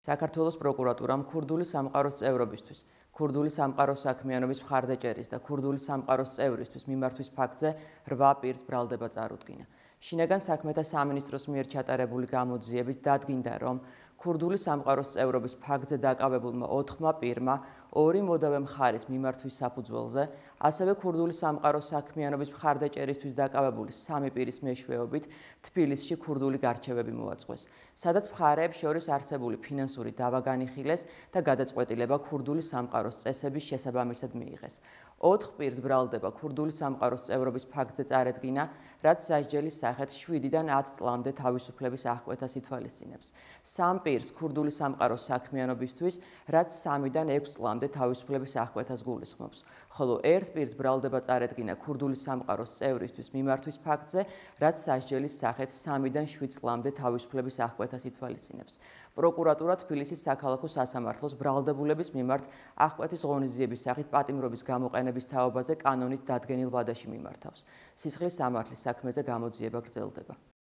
საქართველოს პროკურატურამ ქურდული სამყაროს წევრობისთვის, ქურდული სამყაროს საქმიანობის მხარდაჭერის და ქურდული სამყაროს წევრისთვის მიმართვის ფაქტზე 8 პირს ბრალდება წარუდგინა. შინაგან საქმეთა სამინისტროს მიერ ჩატარებული გამოძიებით დადგინდა, რომ ქურდული სამყაროს წევრობის ფაქტზე დაკავებულმა 4 პირმა 2 მოდავე მხარის მიმართვის საფუძველზე, ასევე ქურდული სამყაროს საქმიანობის მხარდაჭერისთვის დაკავებული 3 პირის მეშვეობით თბილისში ქურდული გარჩევები მოაწყვეს, სადაც მხარეებს შორის არსებული ფინანსური დავა განიხილეს და გადაწყვეტილება ქურდული სამყაროს წესების შესაბამისად მიიღეს. 4 პირს ბრალდება ქურდული სამყაროს წევრობის ფაქტზე წარედგინა, რაც სასჯელის სახით 7-დან 10 წლამდე თავისუფლების აღკვეთას ითვალისწინებს. 3 პირს ქურდული სამყაროს საქმიანობისთვის, რაც 3-დან 6 წლამდე თავისუფლების აღკვეთას გულისხმობს, ხოლო 1 პირს ბრალდება წარედგინა ქურდული სამყაროს წევრისთვის მიმართვის ფაქტზე, რაც სასჯელის სახით 3-დან 7 წლამდე თავისუფლების აღკვეთას ითვალისწინებს. პროკურატურა თბილისის საქალაქო სასამართლოს ბრალდებულების მიმართ აღკვეთის ღონისძიების სახით პატიმრობის გამოყენების თაობაზე კანონით დადგენილ ვადაში მიმართავს. სისხლის სამართლის საქმეზე გამოძიება გრძელდება.